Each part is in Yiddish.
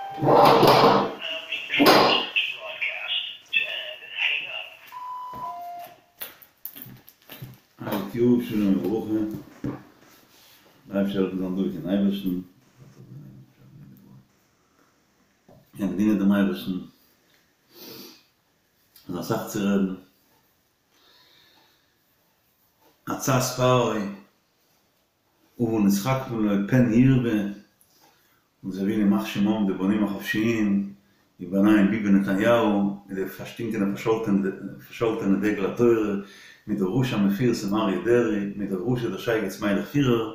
א גוט יאר, שלום וברכה, דער אייבערשטער זאל העלפן זיין דבוק אין אייבערשטן, און דינען דעם אייבערשטן, איז אסאך צו רעדן, עצת פרעה, הבה נתחכמה לו פן ירבה, און זיי ווילן ימח שמם די בונים החופשיים, וביניהם ביבי נתניהו, מיט די פארשטינקענע פארשאלטענע דגל התורה, מיט די רשע המפורסם אריה דרעי, מיט די רשע דער שייגעץ מיילעך פירער,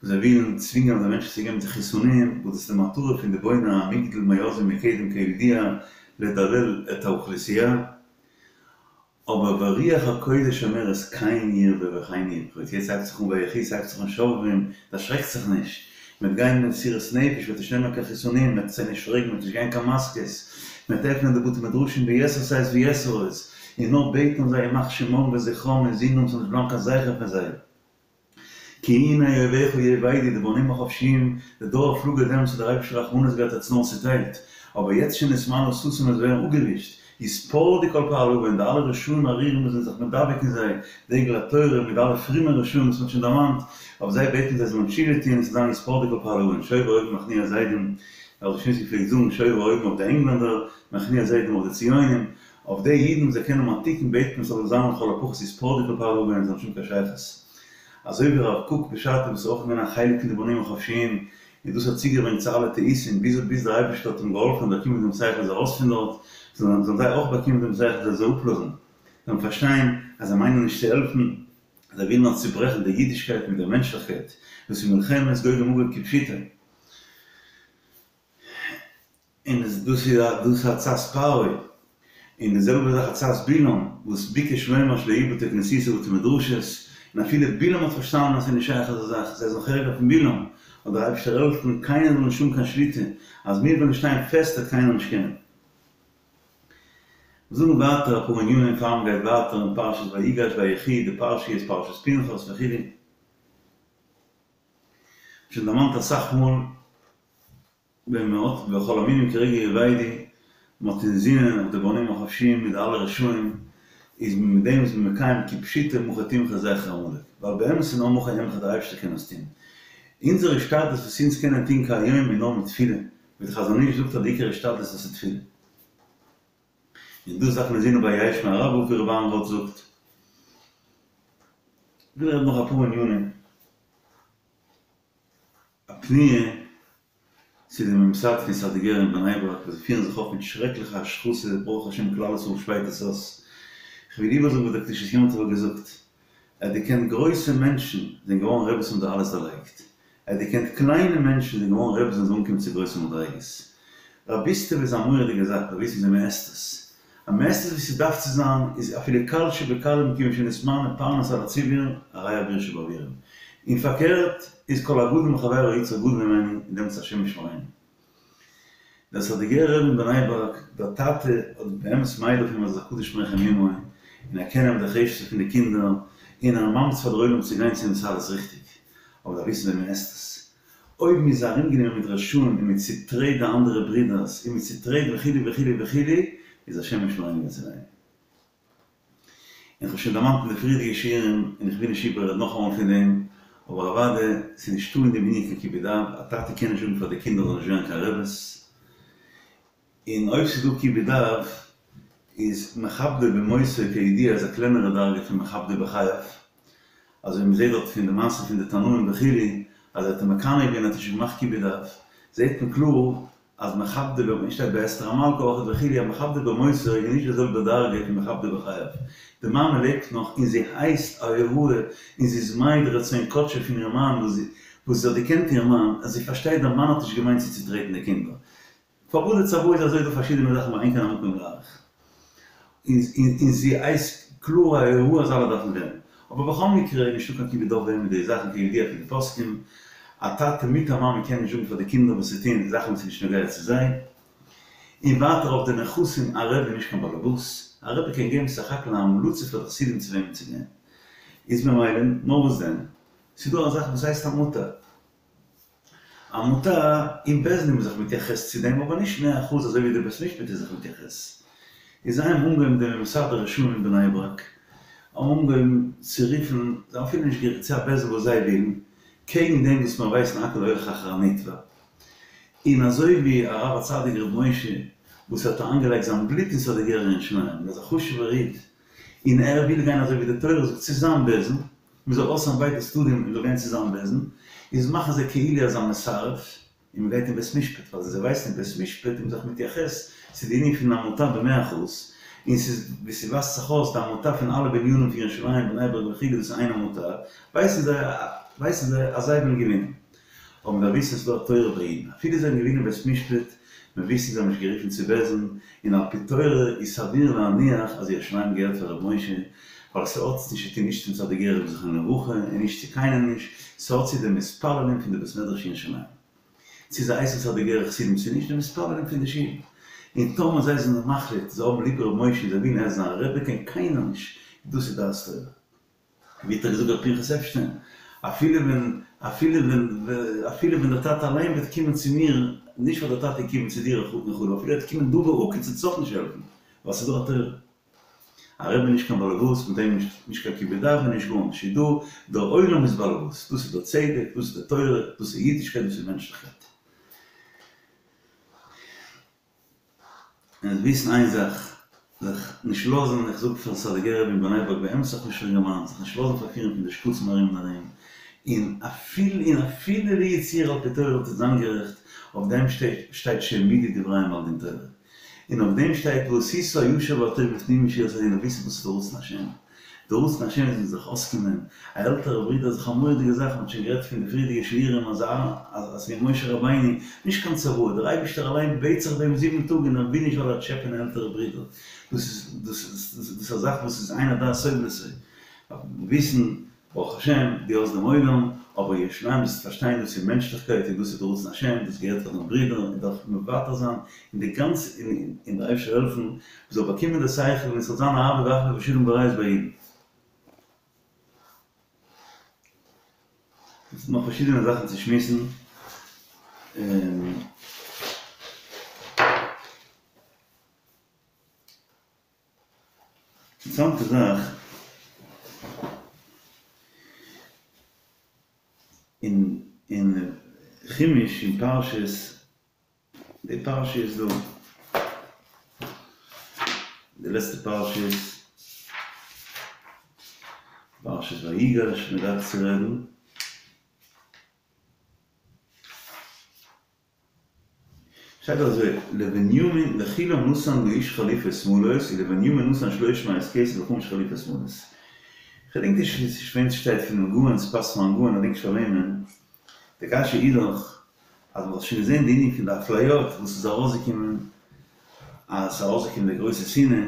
וואס זיי ווילן צווינגען אויף די מענטשן צו געבן זיך חיסונים, וואס דאס איז די מטרה פון די בוני המגדל מאז ומקדם כידוע לדלל את האוכלוסייה. אבער ורוח הקודש אומרת כן ירבה וכן יפרוץ, יעצט הייבט זיך אן ויחי, ס'הייבט זיך אן שובבים, דערשרעקט זיך נישט, מ'וועט גיין מיט מסירות נפש, מ'וועט נישט נעמען קיין חיסונים, מ'וועט זיי נישט פרעגן, מ'וועט נישט גיין קיין מאסקעס, מ'וועט עפענען די בתי מדרשים ביתר שאת ויתר עוז, און נאר בעטן אויף זיי ימח שמם וזכרם און זינען ס'זאל נישט בלייבן קיין זכר פון זיי. כי הנה אויביך יאבדו, די בונים החופשיים, די דור הפלגה דעמאלטס האט דער אייבערשטער רחמנות געהאט האט עס נאר צוטיילט, אבער יעצט שנתמלא ששון עס ווערן אפגעווישט, יתפרדו כל פועלי און די אלע רשעים ארורים וואס זענען זיך מדבק אין זיי, דגל התורה מיט די אלע פרומע רשעים וואס מען האט שוין דערמאנט, אויף זיי בעטן זיי זאלן תשובה טוהן און ס'זאל זיין יתפרדו כל פועלי און שובר אויבים מכניע זדים, דער אלטער פלעגט זאגן שובר אויבים אויף די ענגלענדער, מכניע זדים אויף די ציונים, אויף די אידן וואס זיי קענען האבן א תיקון בעט מען ס'זאל זיין לכל הפחות יתפרדו כל פועלי און זיי האבן שוין קיין שייכות. אזוי ווי הרב קוק בשעתו וואס איז אויך געווען א חלק פון די בונים החופשיים און דאס האט צוגעברענגט צו אלע טעותים ביז ביז דער אייבערשטער האט אים געהאלפן און באקומען דעם שכל איז ארויס פון דארט זאלן זאלן זיי אויך באקומען דעם שכל זיי זאל אפלאזן זאלן פארשטיין אז זיי מיינען נישט צו העלפן זיי ווילן נאר צוברעכן די אידישקייט מיט דער מענטשליכקייט דאס איז מלחמת גוג ומגוג כפשוטו. און דאס איז דאס איז עצת פרעה, און די זעלבע זאך עצת בלעם, וואס ביקש לומר שלא יהיו בתי כנסיות ובתי מדרשות, און אפילו בלעם האט פארשטאנען אז ס'איז נישט שייך אזא זאך, זיי זענען ערגער פון בלעם, זאל דער אייבערשטער העלפן קיינער זאל נישט האבן קיין שליטה, אז מיר וועלן שטיין פעסט וועט קיינער נישט קענען. זאגן ווייטער אפאר ענינים פאר מ'גייט ווייטער אין פרשת ויגש ויחי, די פרשה איז פרשת פנחס וכו'. שוין דערמאנט אסאך מאל. ווען מען האט וכל המינים כרגע יאבדו, מען האט אינזינען אויף די בונים החופשיים מיט די אלע רשעים, איז מען מיט דעם איז מען מקיים כפשוטו מחה תמחה זכר עמלק, ווייל באמת איז נאר מחה אמחה די אייבערשטער קען עס טון. אונזער השתדלות וואס אונז קענען טון כהיום איז נאר מיט תפילה, ווי די חזון איש זאגט אז די עיקר השתדלות דאס איז תפילה. און דאס דארף מען אינזינען ביי יהא שמיה רבא ווי רבי אהרן ראטה זאגט. כ'וויל רעדן נאך אפאר ענינים. א פניה צו די ממסד פון סאדיגערע אין בני ברק וואס זיי פירן זיך אויף מיט שרעקליכע השחתה, ברוך השם כלל ישראל שפייט עס אויס. כ'וויל איבערזאגן וואס דער קדושת יום טוב האט געזאגט, ער האט געקענט גרויסע מענטשן זענען געווארן רעבעס האבן זיי אלעס דערלייגט, ער האט געקענט קליינע מענטשן זענען געווארן רעבעס זענען זיי אנגעקומען צו גרויסע מדריגות. רביסטעווע איז א מורא'דיגע זאך, מ'דארף וויסן וויאזוי מ'עסט עס. אז מ'עסט עס ווי ס'דארף צו זיין, איז אפילו קל שבקלים כיוון שנתמנה פרנס על הציבור, הרי אביר שבאבירים. און פארקערט, איז כל הגדול מחבירו יצרו גדול ממנו, און דעמאלטס השם ישמרינו. דער סאדיגערער רבי אין בני ברק, דער טאטע האט באמת מעיד אויף אים אז ער איז א קדוש מרחם אמו, און ער קען נעמען די חפצא פון די קינדער, און ער ממליץ פאר דער עולם צו גיין צו אים ס'אלעס ריכטיג. אבער דארף וויסן ווען מ'עסט עס. אויב מ'איז ארומגענומען מיט רשעים און מ'צוטרעט די אנדערע ברודערס און מ'צוטרעט וכו' וכו' וכו', איז השם ישמרינו ויצילנו. און כ'האב שוין דערמאנט אין די פריערדיגע שיעורים, און איך וויל נישט איבעררעדן נאכאמאל פון דעם, אבער אוודאי, ס'איז נישטא אין דעם ענין קיין כיבוד אב, א טאטע קען נישט זאגן פאר די קינדער זאלן נישט ווערן קיין רעבעס, און אויב ס'איז דא כיבוד אב, איז מכבדו במותו כידוע איז א קלענערע דרגה פון מכבדו בחייו, אזוי ווי מ'זעט דארט פון די מעשה פון די תנאים וכו', אז ער האט אים מקנא געווען האט ער שוין געמאכט כיבוד אב, זעט מען קלאר אז מכבדו במ שטייט ביי אסתר המלכה אויך וכו' אז מכבדו במותו איז נישט די זעלבע דרגה פון מכבדו בחייו, די מאמע לעבט נאך און זי הייסט א הוראה און זי איז מעיד רצון קדשו פון איר מאן וואס זי האט געקענט איר מאן אז זי פארשטייט דער מאן האט נישט געמיינט צו צוטרעטן די קינדער פארוואס די צוואה איז אזוי דא פארשידענע זאכן ואין כאן המקום להאריך. און זי הייסט קלאר א הוראה אז אלע דארפן ווערן. אבער בכל מקרה איז נישטא קיין כיבוד אב ואם מיט די זאכן כידוע פון די פוסקים. א טאטע מיט א מאמע קען נישט זאגן פאר די קינדער וואס צו טון, זאכן וואס איז נישט נוגע צו זיי. און ווייטער אויף די נכסים, א רבי איז נישט קיין באלעבאס. א רבי קען געבן סך הכל א המלצה פאר די חסידים צו וועמען צו גיין. איז ממילא, נאר וואס דען? ס'איז דא א זאך וואס הייסט א מוטער. עמותה, אין בית דין איז מען זיך מתייחס צו דעם אבער נישט 100% אזוי ווי די בית משפט איז זיך מתייחס. איז זיי האבן אנגעהויבן די ממסד הרשעים אין בני ברק האבן אנגעהויבן צו רופן, זיי האבן אפילו נישט גערופן צו א בית דין וואס זיי ווילן, קעגן דעם וואס מיר ווייסן הכל הולך אחר הנתבע. און אזוי ווי הרב הצדיק ר' משה וואס האט אריינגעלייגט זיין בלוט אין סאדיגערע ירושלים און איז א חשוב'ער איד און ער וויל גיין אזוי ווי די תורה זאגט צו זיין בית דין, מען זאל אויסהערן ביידע צדדים און זאל גיין צו זיין בית דין, איז מאכן זיי כאילו אז א מסרב, און מען גייט אין בית משפט, ווייל זיי ווייסן אין בית משפט איז מען זיך מתייחס צו די ענין פון עמותה במאה אחוז, און ס'איז ווי ס'ווייזט זיך אויס די עמותה פון אלע בנינים פון ירושלים בני ברק וכו' דאס איז איין עמותה, ווייסן זיי ווייסן זיי אז זיי וועלן געווינען. אבער מ'דארף וויסן ס'איז דא א תורה ביי אידן, אפילו זיי האבן געווינען בית משפט, מיר וויסן זיי האבן נישט גערופן צו בית דין, און על פי תורה איז סביר להניח אז ירושלים געהערט פאר ר' משה, ווייל ס'האט נישט צו טון נישט צום סאדיגערער רב זכרונו לברכה און נישט צו קיינעם נישט, ס'האט צו די מתפללים פון די בית מדרש אין ירושלים. צו זיי הייסן סאדיגערע חסידים צו נישט, די מתפללים פון די שול. און טאמער זיי זענען מחליט זיי האבן ליב ר' משה און זיי ווילן ער זאל זיין רבי קען קיינער נישט, דאס איז דעת תורה. ווי האט ער געזאגט ר' פנחס עפשטיין, אפילו ווען, אפילו ווען, אפילו ווען דער טאטע אליין וועט קומען צו מיר, נישט ווייל דער טאטע איז געקומען צו דיר אין חלום, אפילו ער וועט קומען דא בעוקץ וועט עס אויך נישט העלפן, ווייל ס'איז דא א תורה. א רבי איז נישט קיין באלעבאס, מיט דעם נישט, נישט קיין כיבוד אב און נישט גארנישט, איז דא, דער עולם איז באלעבאס, דאס איז דער צדק, דאס איז די תורה, דאס איז אידישקייט, דאס איז מענטשליכקייט. און וויסן איין זאך, זיך נישט לאזן, איך זאג פארן סאדיגערער רבי אין בני ברק באמת זיך נישט אינגערמאן, זיך נישט לאזן פארפירן פון די שקצים ארום און ארום, און אפילו און אפילו לו יצוייר על פי תורה וואלט איר זיין גערעכט, אויף דעם שטייט שהעמידו דבריהם על דין תורה, און אויף דעם שטייט ועשית הישר והטוב לפנים משורת הדין, וויסן וואס איז די רצון השם. די רצון השם איז זיך אויסקומען, א עלטערע ברודער איז דאך א מורא'דיגע זאך, מ'האט שוין גערעדט פון די פריערדיגע שיעורים אז אז ווי משה רבינו, נישט קיין צוואה, דער אייבישטער אליין בעט זיך ביי אים זיבן טאג און ער וויל נישט ווייל ער טשעפען עלטערע ברודער, דאס איז דאס איז דאס איז א זאך וואס איז אין הדעת סובלת, וויסן ברוך השם דו האסט דעם עולם, אבער ירושלים זאלסטו פארשטיין דאס איז מענטשליכקייט און דאס איז די רצון השם, דאס געהערט פאר דיין ברודער און דארף מוותר זיין און די גאנצע און דער אייבערשטער זאל העלפן מ'זאל באקומען די שכל און עס זאל זיין אהבה ואחווה ושלום ורעות ביי אידן. עס איז נאך פארשידענע זאכן צו שמועסן. אינטערעסאנטע זאך, אין אין חומש אין פרשת, די פרשה איז דא, די לעצטע פרשה איז פרשת ויגש, מען דארף צו רעדן. שטייט אזוי, לבנימין לכולם נתן לאיש חליפות שמאלות ולבנימין נתן שלוש מאות כסף וחמש חליפות שמאלות. כ'געדענק נישט וועם ס'שטייט פונעם גאון, ס'פאסט פארן גאון, כ'דענק נישט פאר וועמען. די קשיא איז דאך אז מ'האט שוין געזען די ענין פון די אפליות וואס איז ארויסגעקומען אז ס'איז ארויסגעקומען די גרויסע שנאה,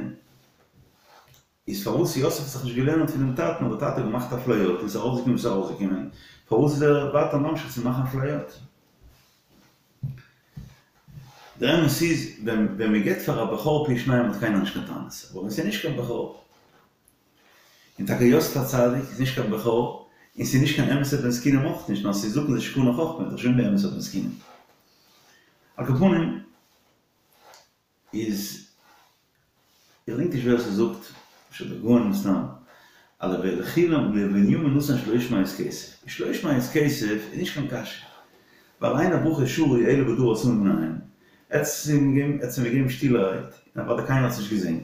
איז פארוואס יוסף האט זיך נישט געלערנט פונעם טאטן אז דער טאטע האט געמאכט אפליות און ס'איז ארויסגעקומען וואס איז ארויסגעקומען, פארוואס איז ער ווייטער ממשיך צו מאכן אפליות? דער אמת איז, ווען ווען מען געבט פאר א בכור פי שניים האט קיינער נישט קיין טענות, אבער ווען ס'איז נישט קיין בכור, און טאקע יוסף הצדיק איז נישט קיין בכור, און ס'איז נישט קיין אמת'ע בן זקונים אויך נישט, נאר ס'איז זקן זה שקנה חכמה, איז דאך שוין די אמת'ע בן זקונים. על כל פנים, איז, איך געדענק נישט ווער ס'זאגט, אפשר דער גאון מסתם, אז לכולם לבנימין נתן שלוש מאות כסף, שלוש מאות כסף איז נישט קיין קשיא, ווייל אין הברכה שרוי אלא בדבר עשאן מנין, ער האט עס אים געגעבן, ער האט עס אים געגעבן שטילערהייט, און אוודאי קיינער האט עס נישט געזען.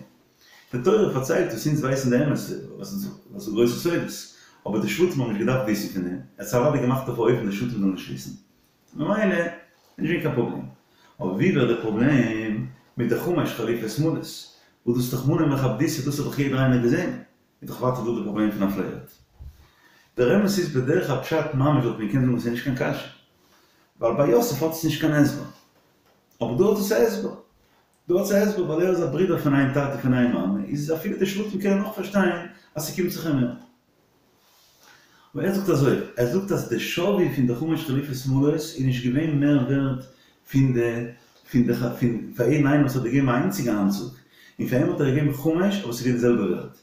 די תורה פארציילט וואס אונז ווייסן די אמת, וואס איז גרויסע סודות, אבער די שבטים האבן נישט געדארפט וויסן פון דעם, ער האט עס אוודאי געמאכט אויף א אופן די שבטים זאלן נישט וויסן. ממילא איז נישט געווען קיין פראבלעם. אבער ווי ווערט די פראבלעם מיט די חמש חליפות שמאלות? וואס דאס איז דאך מנא מכבדותא דאס האט דאך יעדער איינער געזען. איז דאך ווייטער דא די פראבלעם פון אפליות. דער אמת איז בדרך הפשט ממש וואלט מען געקענט זאגן עס איז נישט קיין קשיא. ווייל ביי יוסף האט עס נישט קיין הסבר. אבער דא האט עס א הסבר. דא האט עס א הסבר ווייל ער איז א ברודער פון איין טאטע פון איין מאמע איז אפילו די שבטים קענען נאך פארשטיין אז ס'קומט זיך אים מער. אבער ער זאגט אזוי, ער זאגט אז די שווי פון די חמש חליפות שמאלות איז נישט געווען מער ווערט פון די פון די פון פאר יעדן איינעם וואס האט געגעבן א איינציגע אנצוג, און פאר אים האט ער געגעבן חמש אבער ס'איז געווען די זעלבע ווערט.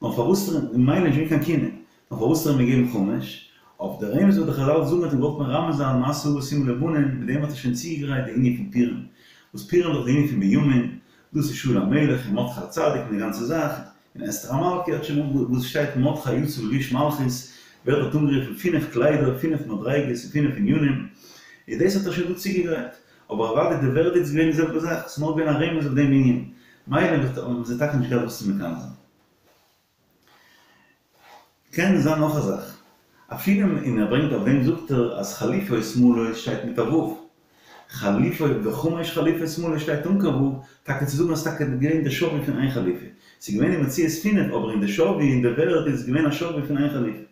נאר פארוואס האט ער אים, ממילא נישט געווען קיין קנאה, נאר פארוואס האט ער אים געגעבן חמש? אויף די רמז וואס די חזל זאגן האט ער געוואלט מרמז זיין מעשה אבות סימן לבנים, מיט דעם האט ער שוין צוגעגרייט די ענין פון פורים, וואס פורים איז דאך די ענין פון בנימין, דאס איז שאול המלך און מרדכי הצדיק און די גאנצע זאך, און אסתר המלכה האט שוין וואס שטייט מרדכי יצא לבוש מלכות, ווערט דארט אנגערופן פינף קליידער, פינף מדריגות און פינף ענינים, איז דאס האט ער שוין דא צוגעגרייט, אבער אוודאי די ווערדיגט איז געווען די זעלבע זאך, ס'איז נאר געווען א רמז אויף דעם ענין, מילא האבן זיי טאקע נישט געהאט וואס צו מקנא זיין. קען זיין נאך א זאך, אפילו און ער ברענגט אויף דעם זאגט ער אז חליפות מלאות שטייט מיט א ו', חליפות וחמש חליפות מלאות שטייט אן קיין ו', טאקע צו זאגן אז ס'טאקע געווען די שווי פון איין חליפה, ס'איז געווען אין מציאות פינף אבער אין די שווי אין די ווערד איז עס געווען א שווי פון איין חליפה.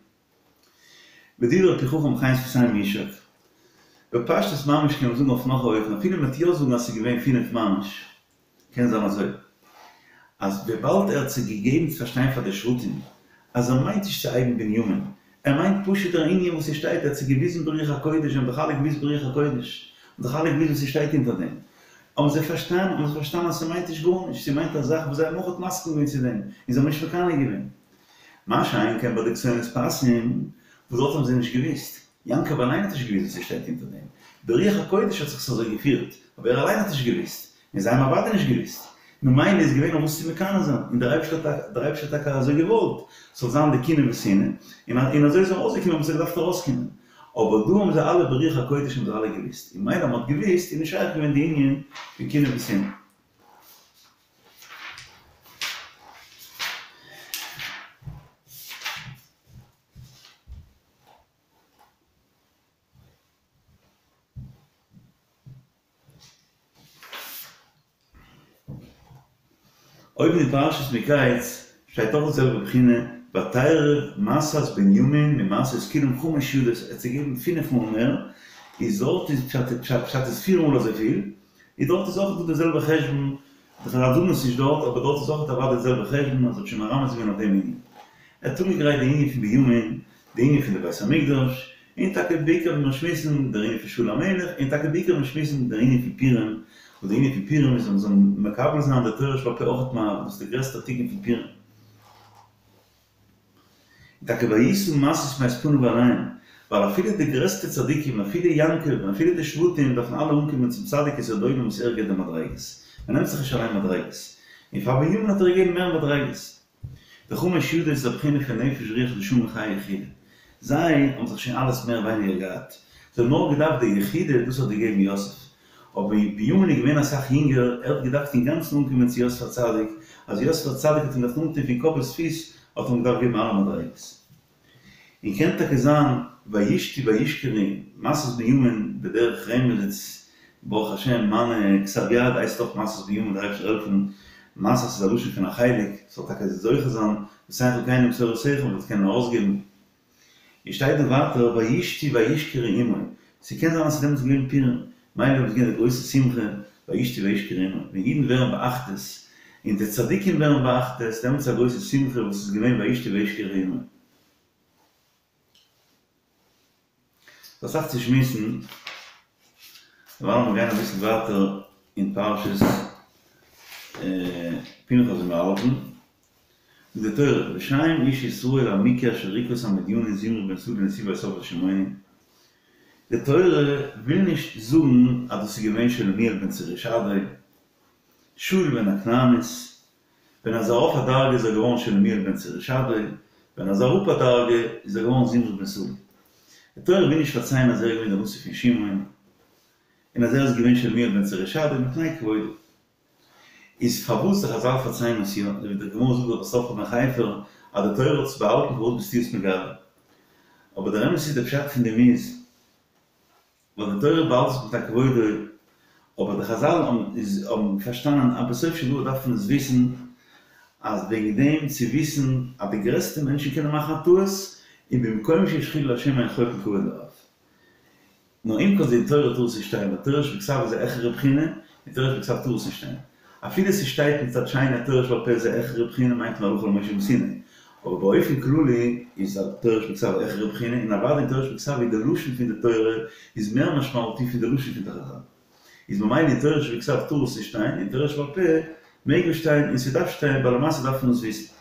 ודברי פי חכם חן שפתים יישק. בפשטות ממש קען מען זאגן אויף נאך א אופן אפילו מ'וועט יא זאגן אז ס'איז געווען פינף ממש. קען זיין אזוי, אז וויבאלד ער האט זיי געגעבן צו פארשטיין פאר די שבטים אז ער מיינט נישט צו הייבן בנימין, ער מיינט פשוט דער ענין וואס ס'שטייט, ער האט זיי געוויזן ברוח הקודש, זיי האבן דאך אלע געוויסט ברוח הקודש, האבן דאך אלע געוויסט וואס ס'שטייט אונטער דעם, האבן זיי פארשטאנען, האבן זיי פארשטאנען אז ס'מיינט נישט גארנישט, ס'מיינט א זאך וואס זיי האבן אויך מסכים געווען צו דעם, און זיי האבן נישט מקנא געווען. מה שאין כן ביי די כתונת פסים, וואס דארט האבן זיי נישט געוויסט. יעקב אליין האט נישט געוויסט וואס ס'שטייט אונטער דעם. ברוח הקודש האט זיך עס אזוי געפירט, אבער ער אליין האט נישט געוויסט. און זיי האבן אוודאי נישט געוואוסט. ממילא איז געווען אויף וואס צו מקנא זיין, און דער אייבערשטער האט דער אייבערשטער האט טאקע אזוי געוואלט, ס'זאל זיין די קנאה ושנאה, און און אזוי איז ארויסגעקומען וואס ס'האט געדארפט ארויסקומען. אבער דא האבן זיי אלע ברוח הקודש האבן זיי אלע געוואוסט, און מילא אז מ'האט געוואוסט איז נישט שייך געווען די ענין פון קנאה ושנאה. אויבן אין פרשת מקץ שטייט אויך די זעלבע בחינה, ותרב משאת בנימין ממשאות כולם חמש ידות, ער האט זיי געגעבן פינף מאל מער, איז דארט איז פשט פשט איז פיר מאל אזויפיל, איז דארט איז אויך דא די זעלבע חשבון, די חזל זאגן עס נישט דארט, אבער דארט איז אויך אוודאי די זעלבע חשבון אז ער האט שוין מרמז געווען אויף דעם ענין. ער האט אנגעגרייט די ענין פון בנימין, די ענין פון די בית המקדש, און טאקע בעיקר ווען מיר שמועסן דער ענין פון שאול המלך, און טאקע בעיקר ווען מיר שמועסן דער ענין פון פורים, וואס דער ענין פון פורים איז אז מ'זאל מקבל זיין די תורה שבעל פה אויכעט מאהבה, דאס איז דער גרעסטער תיקון פון פורים. און טאקע וישא משאת מאת פניו אליהם, ווייל אפילו די גרעסטע צדיקים, אפילו יעקב, און אפילו די שבטים, דארפן אלע אנקומען צום צדיק יסוד עולם וואס ער געבט די מדריגות. מ'נעמט זיך נישט אליין מדריגות. און פאר בנימין האט ער געגעבן מער מדריגות. די חמש ידות איז א בחינה פון נפש רוח נשמה חיה יחידה. זיי האבן זיך שוין אלעס מער ווייניגער געהאט. זיי האבן נאר געדארפט די יחידה, דאס האט געגעבן יוסף. אבער בנימין איז געווען אסאך יונגער, ער האט געדארפט אינגאנצן אנקומען צו יוסף הצדיק, אז יוסף הצדיק האט אים געדארפט אנטון פון קאפ ביז פיס, האט אים געדארפט געבן אלע מדריגות. און קען טאקע זיין וישתו וישכרו משאת בנימין בדרך רמז איז ברוך השם מיינע כתב יד הייסט אויך משאת בנימין דער אייבערשטער זאל העלפן משאת איז א לשון פון א חלק ס'זאל טאקע זוכה זיין ותן חלקנו בתורתך מ'זאל עס קענען ארויסגעבן און שטייט דא ווייטער וישתו וישכרו עמו ס'קען זיין אז ס'איז דעמאלטס געווען פורים מילא איז געווען די גרויסע שמחה וישתו וישכרו עמו ווען אידן ווערן באחדות און די צדיקים ווערן באחדות דעמאלטס איז א גרויסע שמחה וואס איז געווען וישתו וישכרו עמו. ס'איז אסאך צו שמועסן, דערווייל לאמיר גיין אביסל ווייטער אין פרשת פנחס ווי מיר האלטן, זאגט די תורה, ושם איש ישראל המוכה אשר הכה את המדיני זמרי בן סלוא נשיא בית אב השמעוני, די תורה וויל נישט זאגן אז דאס איז געווען שלומיאל בן צורישדי, שאול בן הכנענית, ווען ער איז ארויף א דרגה איז ער געווארן שלומיאל בן צורישדי, ווען ער איז אראפ א דרגה איז ער געווארן זמרי בן סלוא. די תורה וויל נישט פארציילן אז ער איז געווען דער נשיא פון שמעון, און אז ער איז געווען שלומיאל בן צורישדי מפני כבודו. איז פארוואס די חזל פארציילן עס יא, אזוי ווי די גמרא זאגט דאך בסוף רב בן חפר אז די תורה האט עס באהאלטן פארוואס ביסטו עס מגלה? אבער דער אמת איז די פשט פון דעם איז, ווייל די תורה באהאלט עס מפני כבודו, אבער די חזל האבן איז האבן פארשטאנען אז בסוף של דבר דארף מען עס וויסן, אז וועגן דעם צו וויסן אז די גרעסטע מענטשן קענען מאכן א טעות, און במקום שיש חילול השם אין חולקין כבוד לרב. נאר עם כל זה אין תורה טאר עס נישט שטיין, ווייל תורה שבכתב איז א העכערע בחינה, און תורה שבכתב טאר עס נישט שטיין. אפילו ס'שטייט מצד שני אז תורה שבעל פה איז א העכערע בחינה מיינט מען הלכה למשה מסיני. אבער באופן כללי איז א תורה שבכתב א העכערע בחינה, און אוודאי אין תורה שבכתב איז די לשון פון די תורה איז מער משמעותי פון די לשון פון די חזל. איז ממילא אין תורה שבכתב טאר עס נישט שטיין, אין תורה שבעל פה מעג עס שטיין און ס'דארף שטיין ווייל למעשה דארף מען עס וויסן.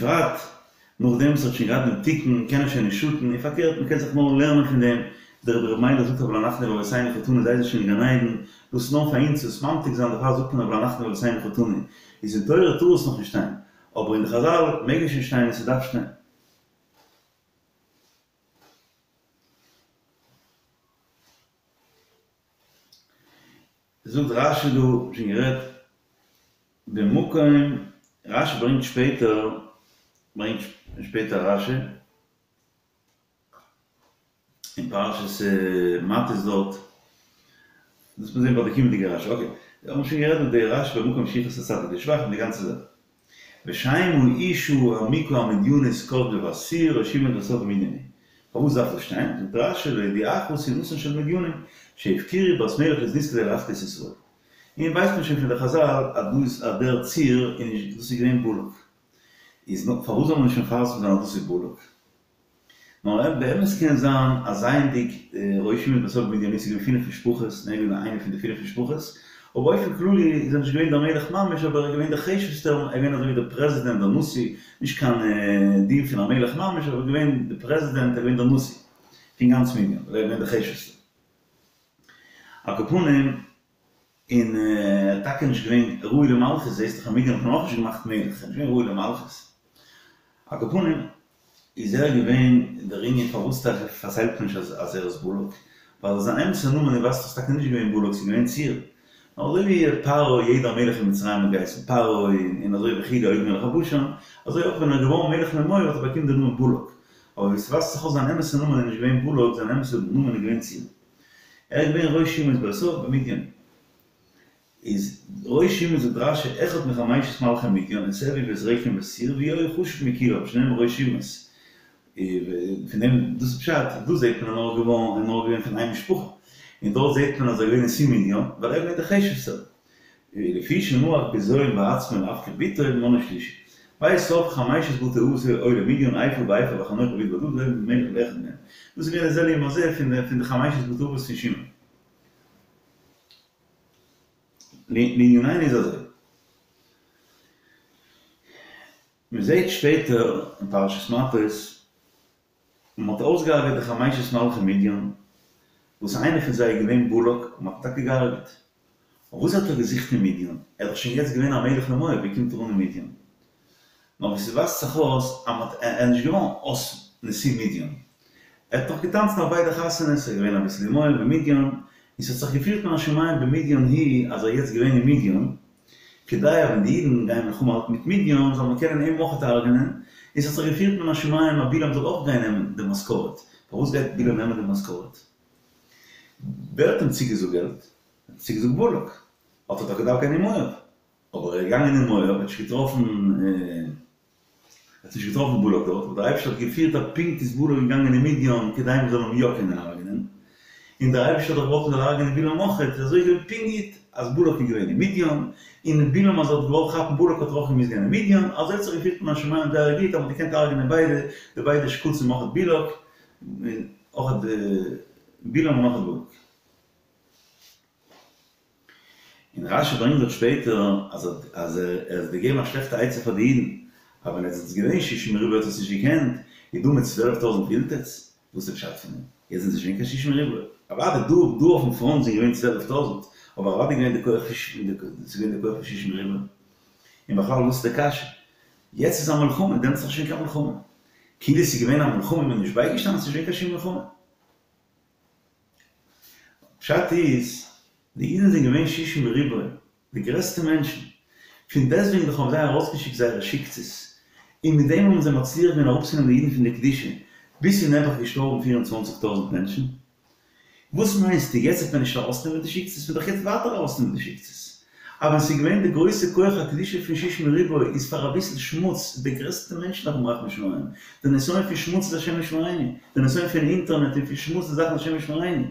ובפרט נאכדעם וואס ער האט שוין געהאט דעם תיקון קען ער שוין נישט שאטן, און פארקערט מען קען זיך נאר לערנען פון דעם, דער רבי ר' מיילעך זאגט אבל אנחנו לאבותינו חטאנו זיי זענען שוין אין גן עדן, דאס איז נאר פאר אונז צו עס ממתיק זיין דערפאר זאגט מען אבל אנחנו לאבותינו חטאנו, איז אין תורה טאר עס נאכנישט שטיין, אבער אין די חזל מעג עס שוין שטיין און ס'דארף שטיין. זאגט רשי דא, שוין גערעדט במקום, רשי ברענגט שפעטער, ברענגט שפעטער רשי, אין פרשת מטות דארט, דאס מיר זעהן ביי די קומענדיגע רשי, אקעי, האבן שוין גערעדט דא די רשי במקום שיכעס הצדיק לשבח און די גאנצע זאך. ושם האשה המוכה המדינית כתבו בת צור ראש אומות בית אב במדין היא. פארוואס דארף דאס שטיין? זאגט רשי להודיעך שנאתן של מדינים שהפקירו בת מלך לזנות כדי להחטיא את ישראל. און ווייסט מען שוין פון די חזל אז דא איז אז דער צור איז נישט דאס איז געווען בלק. איז פארוואס זאל מען נישט מפרסם זיין אז דאס איז בלק? נאר באמת קען זיין אז זייענדיג ראש אומות בית אב במדין איז געווען פינף משפחות און ער איז געווען איינע פון די פינף משפחות, אבער באופן כללי איז ער נישט געווען דער מלך ממש אבער ער איז געווען דער חשובסטער, ער איז געווען אזוי ווי דער פרעזידענט דער נשיא, נישט קיין דין פון א מלך ממש אבער ער איז געווען דער פרעזידענט ער איז געווען דער נשיא פון גאנץ מדין ווייל ער איז געווען דער חשובסטער. על כל פנים. און ער איז טאקע נישט געווען ראוי למלכות, זעהסט דאך אין מדין האט מען אויך נישט געמאכט מלך, ער איז נישט געווען ראוי למלכות. על כל פנים איז ער געווען דער ענין פארוואס טאקע פארציילט מען נישט אז ער איז בלק, ווייל זיין אמת'ע נאמען איז ווייזט אויס טאקע נישט געווען בלק ס'איז געווען צור, נאר אזוי ווי פרעה יעדער מלך אין מצרים האט געהייסן פרעה און אזוי וכו' עוג מלך הבשן, אזוי אויך ווען ער איז געווארן מלך למואב האט ער באקומען די נאמען בלק, אבער ווי ס'ווייזט זיך אויס זיין אמת'ע נאמען איז נישט געווען בלק זיין אמת'ע נאמען איז געווען צור. ער איז געווען ראש אומות בית אב במדין. איז ראש אומות זאגט רשי אחד מחמשת מלכי מדין את עוי ואת רקם ואת צור והוא היה חשוב מכולם שנאמר ראש אומות. פון דעם דאס איז פשט דא זעט מען אז נאר געווארן נאר געווען פון איין משפחה און דארט זעט מען אז ער איז געווען נשיא מדין ווייל ער איז געווען דער חשובסטער. לפי שנהג בזיון בעצמו להפקיר בתו מנאו שלישי. בית אב חמשת בתי אבות היו למדין עיפה ועפר וחנוך ואבידע ואלדעה ולא היה מלך לאחד מהם. דאס איז געווען די זה לעומת זה פון די חמשת בתי אבות פון שמעון. לענינינו איז אזוי. מען זעט שפעטער אין פרשת מטות מען האט אויסגעהארגעט די חמשת מלכי מדין, וואס איינער פון זיי איז געווען בלק, און מען האט אים טאקע געהארגעט. אבער וואס האט ער געזוכט אין מדין? ער איז דאך שוין יעצט געווען א מלך למואב, ווי קומט ער אן אין מדין? נאר ווי ס'ווייזט זיך אויס אז מען האט ער איז נישט געווארן אויס נשיא מדין, ער האט נאך געטאנצן אויף ביידע חתונות, ער איז געווען אביסל אין מואב און מדין, און ס'האט זיך געפירט מן השמים במדין הוא אז ער איז יעצט געווען אין מדין, כדי אז ווען די אידן גייען מלחמה האלטן מיט מדין זאל מען קענען אים אויכעט הרג'נען, און ס'האט זיך געפירט מן השמים אז בלעם זאל אויך גיין נעמען די משכורת, פארוואס גייט בלעם נעמען די משכורת? ווער האט אים צוגעזאגט געלט? האט אים צוגעזאגט בלק, האט ער דאך געדארפט גיין אין מואב, אבער ער איז געגאנגען אין מואב, ער האט נישט געטראפן. ער האט נישט געטראפן בלק דארט, אבער דער אייבערשטער האט געפירט אז פונקט איז בלק געגאנגען אין מדין כדי מען זאל אים יא קענען הרג'נען, און דער אייבערשטער האט דאך געוואלט מען זאל הרג'נען בלעם אויכעט, איז אזוי געווען פונקט גוט אז בלק איז געווען אין מדין, און בלעם אז ער האט געוואלט כאפן בלק האט ער אויך געמוזט גיין אין מדין, אזוי האט זיך געפירט מן השמים זייער גוט אז מען האט געקענט הרג'נען ביידע, די ביידע שקצים אויכעט בלק, אויכעט בלעם און אויכעט בלק. און רשי ברענגט דארט שפעטער אז אז ער האט געגעבן א שלעכטע עצה פאר די אידן, אז ווען עטס זענטס געווען שישים ריבוא האט עטס נישט געקענט, איז דא מיט צוועלף טויזנט ווילט עטס? וואס איז פשט פון דעם? יעצט זענען זיי שוין קיין שישים ריבוא. אוודאי דא דא אויפן פראנט זענען געווען צוועלף טויזנט, אבער אוודאי געווען די כח פון ס'איז געווען די כח פון שישים ריבוא. און בכלל וואס איז די קשיא? יעצט איז א מלחמה, דעמאלטס איז דאך נישט געווען קיין מלחמה. כאילו ס'איז געווען א מלחמה און מ'איז נישט בייגעשטאנען, ס'איז נישט געווען קיין שום מלחמה. פשט איז, די אידן זענען געווען שישים ריבוא, די גרעסטע מענטשן, פון דעסטוועגן דאך האבן זיי ארויסגעשיקט זייערע שיקצעס, און מיט דעם האבן זיי מצליח געווען אראפצונעמען די אידן פון די קדושה, ביז ס'איז נעבעך געשטארבן פיר און צוואנציג טויזנט מענטשן. וואס מיינסטו, יעצט וועט מען נישט ארויסנעמען די שיקצעס, מ'וועט דאך יעצט ווייטער ארויסנעמען די שיקצעס. אבער ווען ס'איז געווען די גרויסע כח הקדושה פון שישים ריבוא איז פאר אביסל שמוץ די גרעסטע מענטשן דארפן רחמי שמים, די נסיון פון שמוץ איז השם ישמרינו, די נסיון פון אינטערנעט און פון שמוץ און זאכן השם ישמרינו,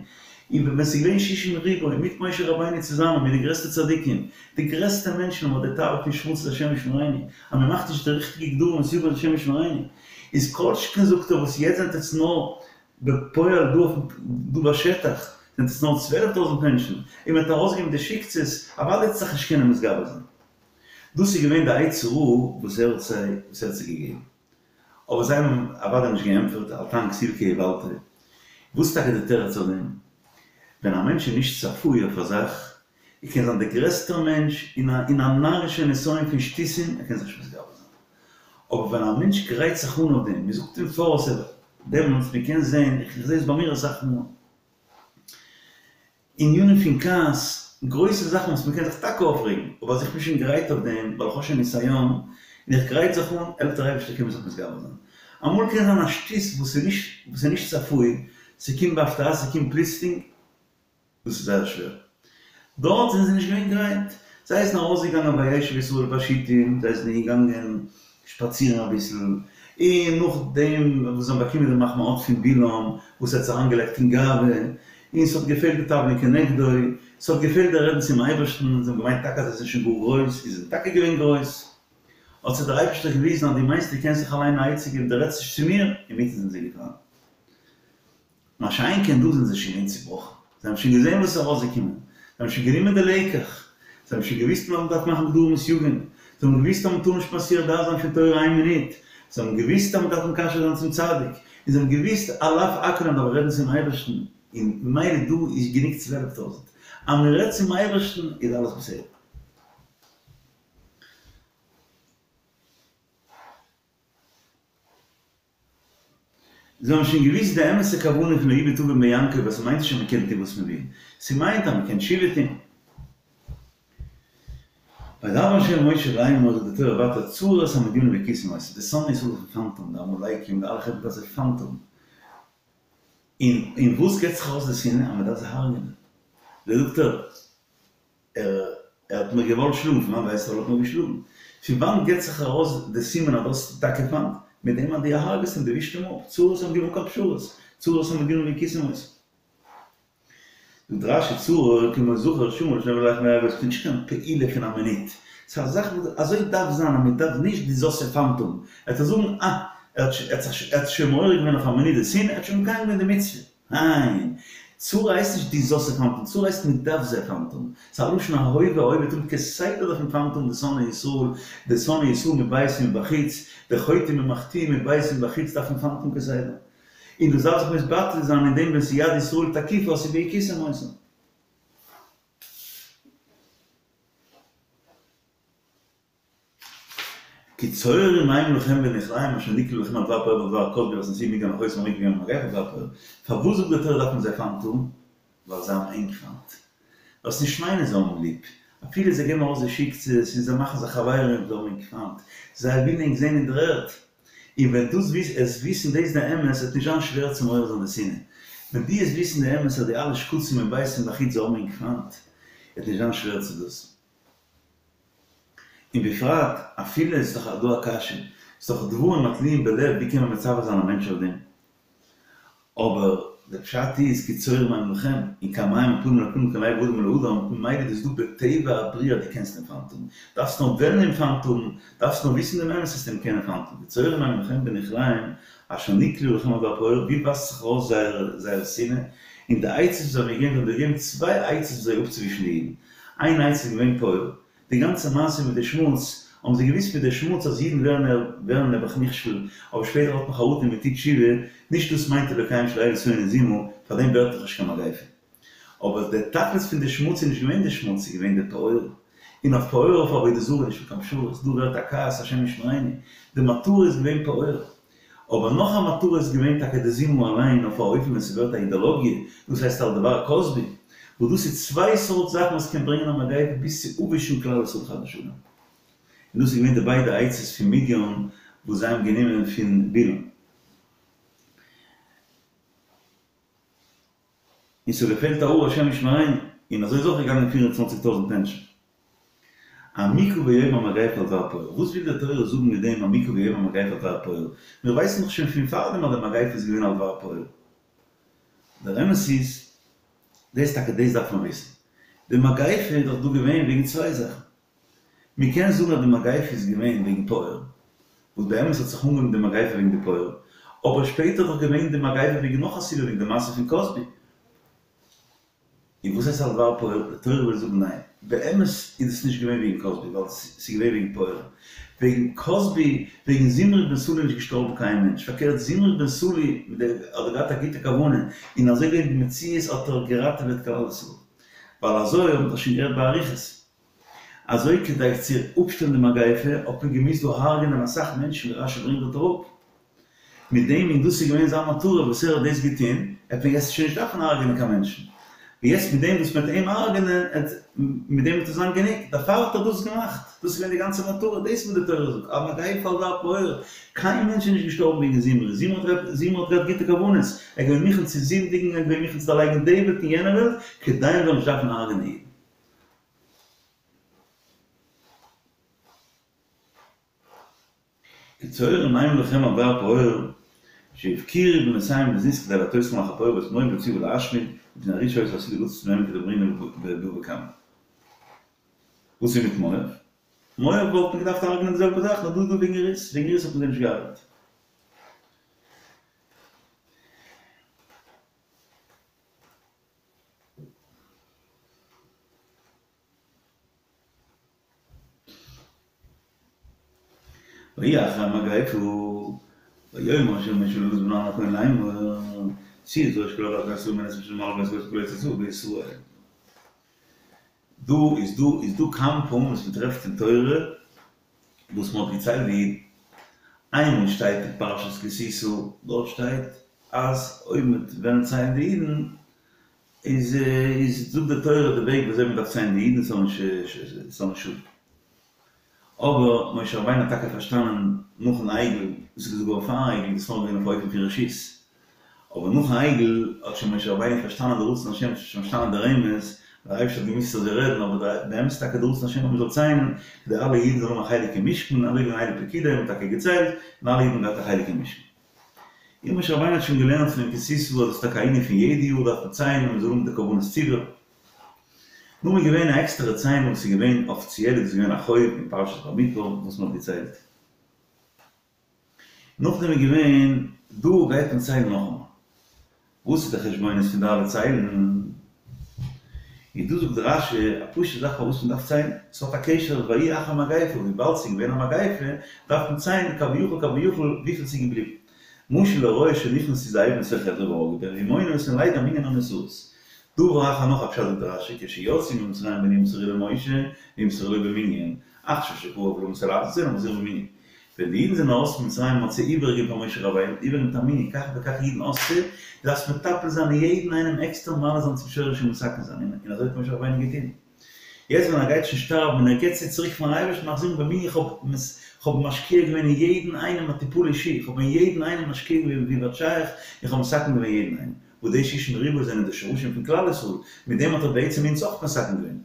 און ווען ס'איז געווען שישים ריבוא מיט משה רבינו צוזאמען מיט די גרעסטע צדיקים, די גרעסטע מענטשן אבער די תאווה פון שמוץ איז השם ישמרינו, אז מ'מאכט נישט די ריכטיגע גדרים און סייגים איז השם ישמרינו, איז כל שכן זאגט ער וואס יעצט זענט עטס נאר בפועל דא אויפן דא בשטח זענט עס נאר צוועלף טויזנט מענטשן, און מען האט ארויסגעגעבן די שיקצעס, אוודאי וועט זיך נישט קענען מתגבר זיין. דאס איז געווען די עצה רעה וואס ער האט זיי וואס ער האט זיי געגעבן. אבער זיי האבן אוודאי נישט געענטפערט אל תען כסיל כי איוולתו. וואס איז טאקע די תירוץ אויף דעם? ווען א מענטש איז נישט צפוי אויף א זאך, ער קען זיין דער גרעסטער מענטש אין א אין א נארישע נסיון פון שטותים, ער קען זיך נישט מתגבר זיין. אבער ווען א מענטש גרייט זיך אן אויף דעם, מען זאגט אים פאר אז ער דעמאלטס, מען קען זען, איך זע עס ביי מיר אסאך מאל, ענינים פון כעס, גרויסע זאכן וואס מען קען זיך טאקע אויפרעגן, אבער אז איך בין שוין גרייט אויף דעם, ווייל איך האב שוין ניסיון, און איך גרייט זיך אן, העלפט דער אייבערשטער קען מען זיך מתגבר זיין. אמאל קען זיין א שטות וואס איז נישט וואס איז נישט צפוי, ס'קומט בהפתעה, ס'קומט פלוצלינג, דאס איז זייער שווער. דארט זענען זיי נישט געווען גרייט. זיי זענען ארויסגעגאנגען וישב ישראל בשיטים, זיי זענען געגאנגען שפאצירן אביסל, און נאכדעם וואס זיי האבן באקומען די מחמאות פון בלעם, וואס האט זיי אריינגעלייגט אין גאווה, און ס'האט געפעלט די תבלין כנגדו, ס'האט געפעלט די רעדן צום אייבערשטן, זיי האבן געמיינט טאקע אז זיי זענען שוין גאר גרויס, און זיי זענען טאקע געווען גרויס. האט זיי דער אייבערשטער געוויזן אז דו מיינסט דו קענסט זיך אליין א עצה געבן, דו רעדסט נישט צו מיר, אינמיטן זענען זיי געפאלן. מה שאין כן דא זענען זיי שוין געווען צובראכן, זיי האבן שוין געזען וואס איז ארויסגעקומען, זיי האבן שוין גענומען די לקח, זיי האבן שוין געוואוסט אז מען דארף מאכן גדרים וסייגים, זיי האבן געוואוסט אז מען טאר נישט מסיח דעת זיין פון תורה איין מינוט, זיי האבן געוואוסט אז מען דארף מקשר זיין צום צדיק, און זיי האבן געוואוסט על אף הכל אז מען דארף רעדן צום אייבערשטן, און ממילא דא איז גענוג צוועלף טויזנט, אז מען רעדט צום אייבערשטן איז אלעס בסדר. זיי האבן שוין געוואוסט די אמת'ע כוונה פון לא יביט און ביעקב אז ס'מיינט נישט אז מ'קען טון וואס מ'וויל, ס'מיינט אז מ'קען תשובה טון. וידבר ה' אל משה לאמר זאגט די תורה ווייטער צרור את המדינים והכיתם אותם, די שונאי ישראל דארף מען פיינט האבן, די עמלקים, די אלע חברה דארף זיי פיינט האבן. און אין וואס געבט זיך ארויס די שנאה? אז מ'דארף זיי הרג'נען. זאגט ער. ער האט מיר געוואלט שלאגן, פון וואנט ווייסטו ער האט מיר געשלאגן? פון וואנט גיבט זיך ארויס די סימן אז דו האסט טאקע פיינט? מיט דעם אז דו הרג'סט אים, דו ווישט אים אפ, צרור את המדינים אן קיין פשרות, צרור את המדינים והכיתם אותם. זאגט רש"י צרור כמו זכר שאמר לשני בני לאה, ס'איז נישט קיין פעולה פון א מינוט, ס'איז א זאך וואס אזוי דארף זיין אז מ'דארף נישט דו זאלסט זיי פיינט האבן, ער וועט זאגן אה, ער האט זיך שוין מעורר געווען אויף א מינוט די שנאה, ער האט שוין מקיים געווען די מצוה. ניין! צרור הייסט נישט דו זאלסט זיי פיינט האבן, צרור הייסט מען דארף זיי פיינט האבן. ס'איז א לשון ההווה, ההווה תמיד כסדר דארף מען פיינט האבן די שונאי ישראל, די שונאי ישראל מבית ומבחוץ, די חוטאים ומחטיאים מבית ומבחוץ דארף מען פיינט האבן כסדר. און דאס דארף זיך מתבטא זיין אין דעם ווען ס'איז יד ישראל תקיפה אז ס'איז והכיתם אותם. כי צוררים הם לכם בנכליהם אשר נקלעו לכם על דבר פעור ועל דבר כזבי והשנאתים מדיין אחותם המכה ביום המגפה על דבר פעור. פארוואס זאגט די תורה דארף מען זיי פיינט האבן? ווייל זיי האבן ענק פיינט. זאלסט נישט מיינען זיי האבן ליב. אפילו זיי געבן ארויס די שיקצעס און זיי מאכן זיך חברים, זיי האבן ענק פיינט. זיי ווילן ענק זען אין דער ערד. און ווען דו וועסט וויסן דאס די אמת וועט נישט זיין שווער צו מעורר זיין די שנאה. ווען דו וועסט וויסן די אמת אז די אלע שקצים מבית ומבחוץ זיי האבן ענק פיינט, וועט נישט זיין שווער צו דאס. און בפרט אפילו איז דאך דא א קשיא, ס'איז דאך דברים התלויים בלב ווי קען מען מצווה זיין א מענטש אויף דעם? אבער די פשט איז כי צוררים הם לכם, און כמים הפנים לפנים כן לב האדם אל האדם, ממילא איז דאס דא בטבע הבריאה דו קענסט אים פיינט האבן, דארפסט נאר וועלן אים פיינט האבן, דארפסט נאר וויסן דעם אמת וועסטו אים קענען פיינט האבן, כי צוררים הם לכם בנכליהם אשר נקלעו לכם על דבר פעור, ווי ווייזט זיך ארויס זייער זייער שנאה, און די עצות וואס זיי האבן געגעבן, זיי האבן געגעבן צוויי עצות וויאזוי אפצואווישן די אידן, איין עצה איז געווען פעור, די גאנצע מעשה מיט די שמוץ, האבן זיי געוויסט מיט די שמוץ אז אידן ווערן ווערן נעבעך נכשל, אבער שפעטער האט מען חרטה און מען טוט תשובה, נישט דאס מיינט אלוקיהם של אלו שונא זימה, פאר דעם ווערט דאך נישט קיין מגיפה. אבער די תכלית פון די שמוץ איז נישט געווען די שמוץ, ס'איז געווען די פעור. און אויף פעור אויף עבודה זרה איז נישטא קיין פשרות, דא ווערט א כעס השם ישמרינו, די מטרה איז געווען פעור. אבער נאך א מטרה איז געווען טאקע די זימה אליין אויף א אופן ווען ס'ווערט א אידעלאגיע, דאס הייסט על דבר כזבי, וואס דאס איז צוויי סארט זאכן וואס קען ברענגען א מגיפה ביז צו אפווישן כלל ישראל חס ושלום. און דאס איז געווען די ביידע עצות פון מדיין וואס זיי האבן גענומען פון בלעם. און ס'האט געפעלט א האר השם ישמרינו, און אזוי איז אויך געגאנגען פיר און צוואנציג טויזנט מענטשן. המכה ביום המגפה על דבר פעור, וואס וויל די תורה זאגן מיט דעם המכה ביום המגפה על דבר פעור? מיר ווייסן דאך שוין פון פארדעם אז די מגפה איז געווען על דבר פעור. דער אמת איז, דאס טאקע דאס דארף מען וויסן. די מגפה איז דאך דא געווען וועגן צוויי זאכן. מען קען זאגן אז די מגפה איז געווען וועגן פעור, וואס באמת האט זיך אנגעהויבן די מגפה וועגן די פעור, אבער שפעטער איז דאך געווען די מגפה וועגן נאך א סיבה וועגן די מעשה פון כזבי. און וואס הייסט על דבר פעור? די תורה וויל זאגן ניין, באמת איז עס נישט געווען וועגן כזבי, ווייל ס'איז געווען וועגן פעור. וועגן כזבי, וועגן זמרי בן סלוא איז נישט געשטארבן קיין מענטש, פארקערט זמרי בן סלוא האט געהאט א גוטע כוונה, און אזוי געווען במציאות האט ער געראטעוועט כלל ישראל. ווייל אזוי האבן מיר דאך שוין גערעדט באריכות. אזוי כדי צו אפשטעלן די מגיפה האט מען געמוזט דא הרג'נען אסאך מענטשן ווי רשי ברענגט דארט אראפ. מיט דעם און דאס איז געווען זיין מטרה וואס ער האט דאס געטון, עט מען יעצט שוין נישט דארפן הרג'נען קיין מענטשן, און יעצט מיט דעם וואס מען וועט אים הרג'נען עט מיט דעם וועט עס זיין גענוג, דערפאר האט ער דאס געמאכט, דאס איז געווען די גאנצע מטרה, דאס וואס די תורה זאגט, א מגיפה על דבר פעור, קיין מענטש איז נישט געשטארבן וועגן זמרי, זמרי האט געהאט זמרי האט געהאט גוטע כוונות, ער איז געווען מוכן צו זינדיגן, ער איז געווען מוכן צו דערלייגן די וועלט און יענע וועלט, כדי מען זאל נישט דארפן הרג'נען אידן. כצוררים המה לכם על דבר פעור, שהפקירו בנותיהם בזנות כדי להטעותכם אחר פעור ואת מואב להוציא ולהשמיד, מפני הרעות שהיתה עתידה לצאת מהם כדאמרינן בבא קמא. וואס איז מיט מואב? מואב וואלט מען געדארפט הרג'נען די זעלבע זאך, נאר דא איז דא וועגן רות, וועגן רות האט מען זיי נישט געהרג'ט. ויהי אחרי המגפה, ויאמר ה' אל משה ואל אלעזר בן אהרן הכהן לאמר, שאו את ראש כל עדת בני ישראל מנה את משלם מעלה בית ראש כל ארץ ישראל בישראל. דא איז דא איז דא כמה פעמים וואס מען טרעפט אין תורה וואס מען האט געציילט די אידן. איינמאל שטייט אין פרשת כי תשא, דארט שטייט אז אויב מען וועט וועלן ציילן די אידן איז איז זאגט די תורה די וועג וויאזוי מען דארף ציילן די אידן ס'זאל נישט ס'זאל נישט שאטן. אבער משה רבינו האט טאקע פארשטאנען נאכן עגל, דאס איז געזאגט געווארן פארן עגל, דאס איז נאר געווען אויף אופן פון רשות, אבער נאכן עגל האט שוין משה רבינו פארשטאנען די רצון השם, שוין פארשטאנען די רמז, דער אייבערשטער האט געמוזט אזוי רעדן, אבער באמת איז טאקע די רצון השם אז מען זאל ציילן, כדי אלע אידן זאלן האבן א חלק אין משכן, אזוי געווען אלה פקודי, מען האט טאקע געציילט, און אלע אידן האבן געהאט א חלק אין משכן. און משה רבינו האט שוין געלערנט פון דעם כי תשא אז דאס איז טאקע א ענין פון יעדע יאר דארף מען ציילן און מען זאל האבן די קרבנות ציבור. נאר איז געווען א עקסטערע ציילן וואס איז געווען אפיציעל איז דאס געווען א חוב אין פרשת במדבר וואס מען האט געציילט. נאכדעם איז געווען דא גייט מען ציילן נאכאמאל. וואס איז די חשבונות פון די אלע ציילן? און דא זאגט רש"י א פשוטע זאך פארוואס מען דארף ציילן, ס'האט א קשר ויהי אחר מגיפה, וויבאלד ס'איז געווען א מגיפה דארף מען ציילן כביכול כביכול וויפיל ס'איז געבליבן. משל לרועה שנכנסו זאבים לתוך עדרו והרגו בהן והוא מונה אותן לידע מנין הנותרות. דבר אחר נאך א פשט זאגט רש"י כשיצאו ממצרים ונמסרו למשה נמסרו לו במנין, עכשיו שקרב למות ולעשות אותן מחזירן במנין. ווען די אידן זענען ארויס פון מצרים האט זיי איבערגעגעבן פאר משה רבינו, איבערגעגעבן מיט א מנין, כך וכך אידן האסטו, דו דארפסט מטפל זיין אין יעדן איינעם עקסטער מעלה זיין צום שורש און מתקן זיין, און אזוי האט משה רבינו געטון. יעצט ווען ער גייט שוין שטארבן און ער געבט זיי צוריק פארן אייבערשטן מחזירן במנין, איך האב משקיע געווען אין יעדן איינעם א טיפול אישי, איך האב אין יעדן איינעם משקיע געווען ווי ווייט שייך, איך האב מתקן געווען יעדן איינעם. וואס די שישים ריבוא זענען די שורשים פון כלל ישראל, מיט דעם האט ער בעצם אונז אויך מתקן געווען.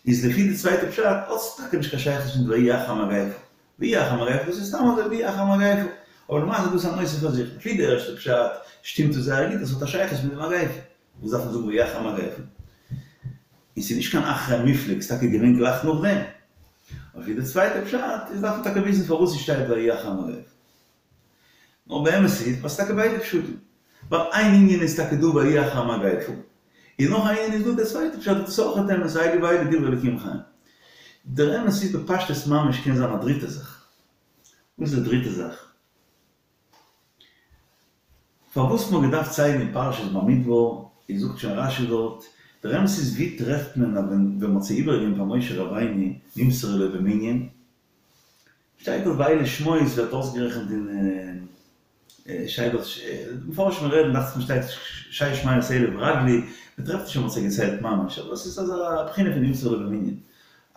איז לפי די צווייטע פשט האט עס טאקע נישט קיין שייכות מיט ויהי אחר המגיפה, ויהי אחר המגיפה דאס איז סתם אזוי ויהי אחר המגיפה, אבער למעשה איז דאס א נושא פאר זיך, לפי די ערשטע פשט שטימט עס זייער גוט אז עס האט א שייכות מיט די מגיפה, וואס דארף מען זאגן ויהי אחר המגיפה? און ס'איז נישט קיין אחרי מופלג, ס'איז טאקע געווען גלייך נאכדעם. אבער לפי די צווייטע פשט איז דארף מען טאקע וויסן פארוואס עס שטייט ויהי אחר המגיפה. נאר באמת איז אז ס'טאקע ביידע פשטים. ווייל איין ענין איז טאקע דא ויהי אחר המגיפה, און נאך א ענין איז דא דער צווייטע פשט וואס איז אויך אמת, אלו ואלו דברי אלוקים חיים. דער אמת איז בפשטות ממש קען זיין א דריטע זאך. וואס איז די דריטע זאך? פארוואס מ'האט געדארפט ציילן אין פרשת במדבר, איז זאגט שוין רש"י דארט, דער אמת איז ווי טרעפט מען אז ווען מ'האט זיי איבערגעגעבן פאר משה רבינו נמסרו לו במנין, שטייט דארט ואלה שמות ווערט אויסגערעכנט אין שטייט דארט מפרשים רעדן דאכט זיך מיר שטייט שש מאות אלף רגלי, מען טרעפט נישט אז מען האט זיי געציילט ממש אבער עס איז אזא בחינה פון נמסרו לו במנין.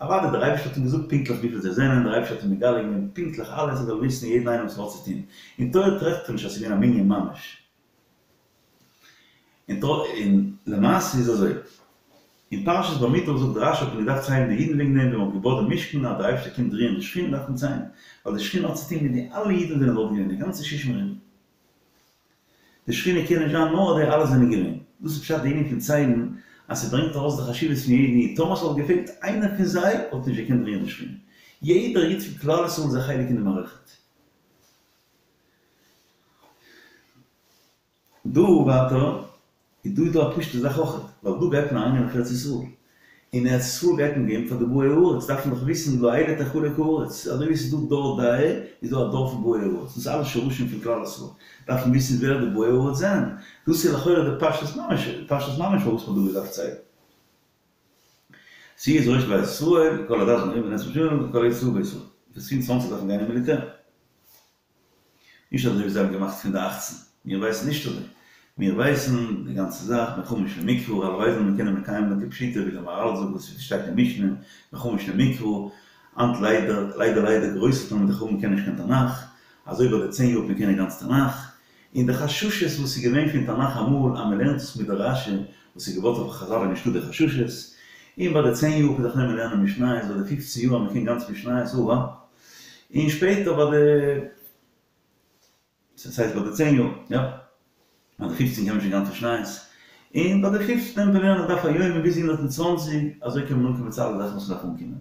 אוודאי דער אייבערשטער האט אים געזאגט פונקטליך וויפיל זיי זענען, דער אייבערשטער האט אים מגלה געווען פונקטליך אלעס ער זאל וויסן יעדן איינעם וואס ער האט צו טון, אין תורה טרעפט מען נישט אז עס איז געווען א מנין ממש. און למעשה איז אזוי, אין פרשת במדבר זאגט רש"י האט מען געדארפט ציילן די אידן וועגן דעם ווען מען האט געבויט די משכן אז דער אייבערשטער קומט רוען די שכינה דארף מען ציילן, ווייל די שכינה האט צוטון מיט די אלע אידן וואס זענען דארט געווען, די גאנצע שישים ריבוא. די שכינה קען נישט זיין נאר אז די אלע זענען געווען. דאס איז פשט די ענין פון ציילן, אז ס'ברענגט ארויס די חשיבות פון יעדן איד, טאמער ס'וואלט געפעלט איינער פון זיי וואלט נישט געקענט רוען די שכינה. יעדער איד פון כלל ישראל איז א חלק אין די מערכת. דא ווייטער. איז דא איז דא א פשוטע זאך אויכעט, ווייל דא גייט מען אריינגיין אויף ארץ ישראל, אין ארץ ישראל גייט מען גיין פאר די באי הארץ, דארף מען דאך וויסן לאלה תחלק הארץ, אזוי ווי עס איז דא דור דעה, איז דא א דור פון באי הארץ, דאס איז אלע שרשים פון כלל ישראל, דארף מען וויסן ווער די באי הארץ זענען, דאס איז לכאורה די פשטות ממש, פשטות ממש פארוואס מען האט דא געדארפט ציילן. שאו את ראש בית ישראל, כל עדת בני בן עשרים שנה, כל היוצא צבא בישראל, ביז פון צוואנציג דארף מען גיין אין מיליטער. נישט אזוי ווי זיי האבן געמאכט פון די אכצן, מיר ווייסן נישט אזוי, מיר ווייסן די גאנצע זאך בן חמש למקרא, הלוואי זאל מען קענען מקיים זיין כפשוטו ווי דער מהרל זאגט וואס שטייט אין משנה, בן חמש למקרא, היינט ליידער ליידער ליידער גרויסע תלמידי חכמים קענען נישט קיין תנך, אזוי ביי די צען יאר האט מען קענען גאנץ תנך, און די חששות וואס איז געווען פון תנך אמאל אז מען לערנט עס מיט די רשי וואס איז געבויט אויף חזל איז נישטא די חששות, און ביי די צען יאר האט מען זיך נעמען לערנען משניות, ביי די פופצן יאר אז מען קען גאנץ משניות, אוה און שפעטער ביי די, ס'הייסט ביי די צען יאר, יא, ביי די פופצן קען מען שוין גאנץ משניות, און ביי די פופצן נעמט מען לערנען דף היומי ביז הונדערט און צוואנציג, אזוי קען מען אנקומען צו אלע זאכן וואס מ'דארף אנקומען.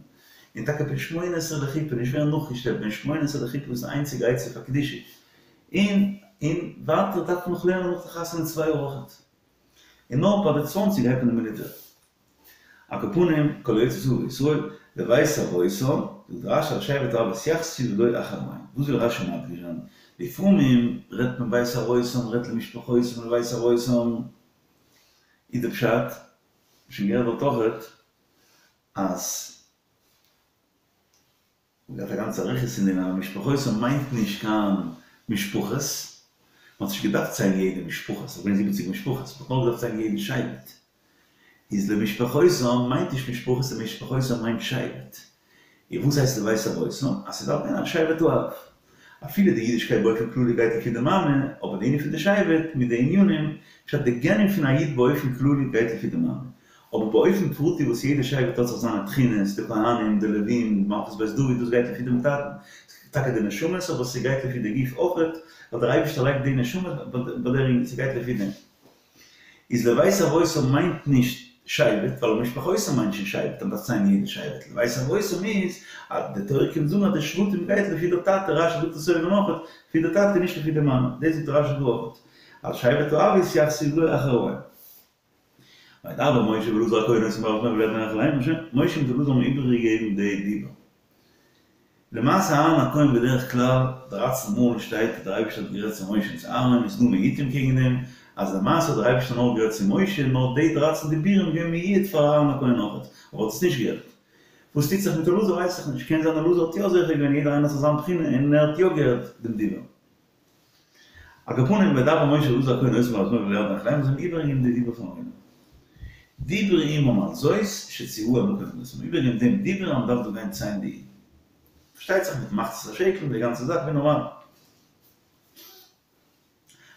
און טאקע בן שמונה עשרה לחופה, נישט ווערן נאכגעשלעפט, בן שמונה עשרה לחופה איז די איינציגע עצה פאר קדושה. און און ווייטער דארף מען נאך לערנען נאך די חתונה צוויי יאר אויכעט. און נאר ביי די צוואנציג הייבט מען די מיליטער. על כל פנים, כל היוצא צבא בישראל, לבית אבותם, זאגט רשי על שבט האבות יתייחסו ולא אחר האם. וואס וויל רשי מדגיש זיין? לפעמים רעדט מען בית אבותם רעדט למשפחותם לבית אבותם. איז די פשט, שוין גערעדט דארט אויכעט, אז מ'געהאט א גאנצע אריכות אין דעם אז משפחותם מיינט נישט קיין משפחות, מ'האט נישט געדארפט ציילן יעדע משפחה, ס'איז געווען זיבעציג משפחות, מ'האט נאר געדארפט ציילן יעדן שבט. איז למשפחותם מיינט נישט משפחות, למשפחותם מיינט שבט. און וואס הייסט לבית אבותם? אז ס'דארף גיין על שבט האב. אפילו די אידישקייט באופן כללי גייט לפי די מאמע, אבער די ענין פון די שבט מיט די ענינים, פשט די גענים פון א איד באופן כללי גייט לפי די מאמע. אבער באופן פרטי וואס יעדע שבט האט זיך זיינע תכונות, די כהנים, די לווים, די מלכות בית דוד, דאס גייט לפי דעם טאטן. טאקע די נשמות, אבער ס'גייט לפי די גוף אויכעט, ווייל דער אייבערשטער לייגט די נשמה ביי דער אינגל, ס'גייט לפי דעם. איז לבית אבותם מיינט נישט שבט, ווייל למשפחותם מיינט שוין שבט, אז מ'דארף ציילן יעדע שבט. לבית אבותם איז אז די תורה קומט זאגן אז די שבטים גייט לפי דער טאטע, רשי זאגט עס אויבן אויכעט, לפי דער טאטע נישט לפי די מאמע, דאס זאגט רשי דא אויכעט, על שבט האבות יתייחסו ולא אחר האם. וידבר משה ואלעזר הכהן אותם בהר אל הירדן לאמר, שוין, משה מיט אלעזר האבן איבערגעגעבן די דיבור. למעשה אהרן הכהן בדרך כלל דרייצן מאל שטייט אז דער אייבערשטער האט גערעדט צו משה און צו אהרן איז דא מיעוטים קעגן דעם אז למעשה האט דער אייבערשטער נאר גערעדט צו משה נאר די דרייצן דיבורים געווען מיועד פאר אהרן הכהן אויכעט אבער האט עס נישט געהערט. וואס טוט זיך מיט אלעזר ווייס איך נישט קען זיין אלעזר האט יא זוכה געווען יעדער איינער האט זיך זיין בחינה און ער האט יא געהערט דעם דיבור. על כל פנים וידבר משה ואלעזר הכהן אותם בהר אל הירדן לאמר זיי האבן איבערגעגעבן די דיבור פארן עולם. דיברו עמם על זאת שציווהו המקום למנותם זיי האבן איבערגעגעבן דעם דיבור אז מ'דארף דא גיין ציילן די אידן. פארשטייט זיך מיט מחצית השקל און די גאנצע זאך ווי נארמאל.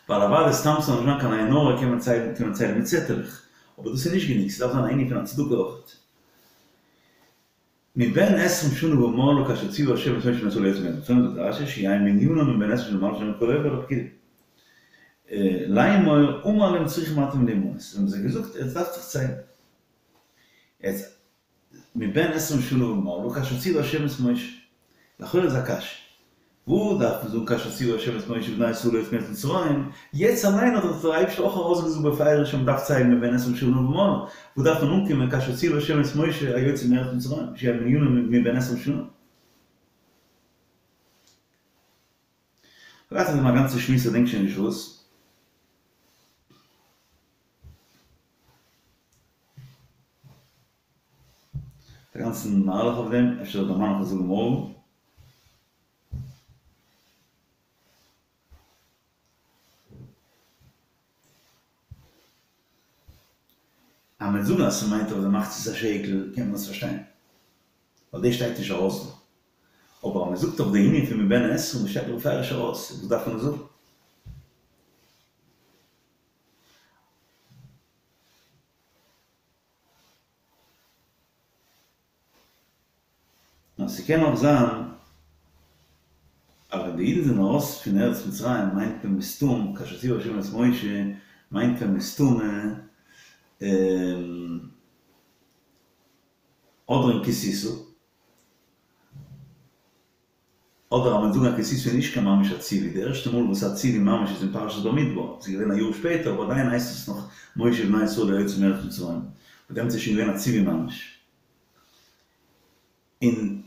ווייל אוודאי סתם ס'זאל נישט זיין קיין עין הרע קען מען ציילן קען מען ציילן מיט צעטעלעך. אבער דאס איז נישט גענוג ס'דארף זיין א ענין פון א צדקה אויכעט. מבן עשרים שנה ומעלה כאשר ציוה ה' את משה בני ישראל ליוצא מארץ מצרים זאגט רשי שיהא מנינם מבן עשרים שנה ומעלה שנאמר כל העובר על הפקודים לאמור אמר להם צריכים אתם להימנות האבן זיי געזאגט עטס דארפט זיך ציילן יעצט מבן עשרים שנה ומעלה כאשר ציוה ה' את משה לכאורה איז א קשיא וואו דארף מען זאגן כאשר ציוה ה' את משה ובני ישראל ליוצא מארץ מצרים, יעצט אליין האט דאך דער אייבערשטער אויך ארויסגעזאגט בפירוש אז מ'דארף ציילן מבן עשרים שנה ומעלה, וואו דארף מען אנקומען כאשר ציוה ה' את משה היוצא מארץ מצרים, שיהא מנינם מבן עשרים שנה. כ'האב געהאט אויף דעם א גאנצע שמועס כ'דענק שוין נישט וואס. א גאנצן מהלך אויף דעם, אפשר דערמאן איך עס זאגן מארגן. אז מ'וועט זאגן אז ס'מיינט אויף די מחצית השקל קען מען עס פארשטיין, ווייל דאס שטייט נישט ארויס דא. אבער אז מ'זאגט אויף די ענין פון מבן עשרים וואס שטייט בפירוש ארויס, וואס דארף מען עס זאגן? נאר ס'קען אויך זיין אז ווען די אידן זענען ארויס פון ארץ מצרים מיינט מען מסתם כאשר ציוה השם את משה מיינט מען מסתמא אדער אין כי תשא. אדער אז מען זאגן אז כי תשא איז נישט קיין ממש א ציווי, די ערשטע מאל וואס א ציווי ממש איז אין פרשת במדבר, ס'איז געווען א יאר שפעטער, אבער עדיין הייסט עס נאך משה ובני ישראל היוצאים מארץ מצרים, און דעמאלטס איז שוין געווען א ציווי ממש. און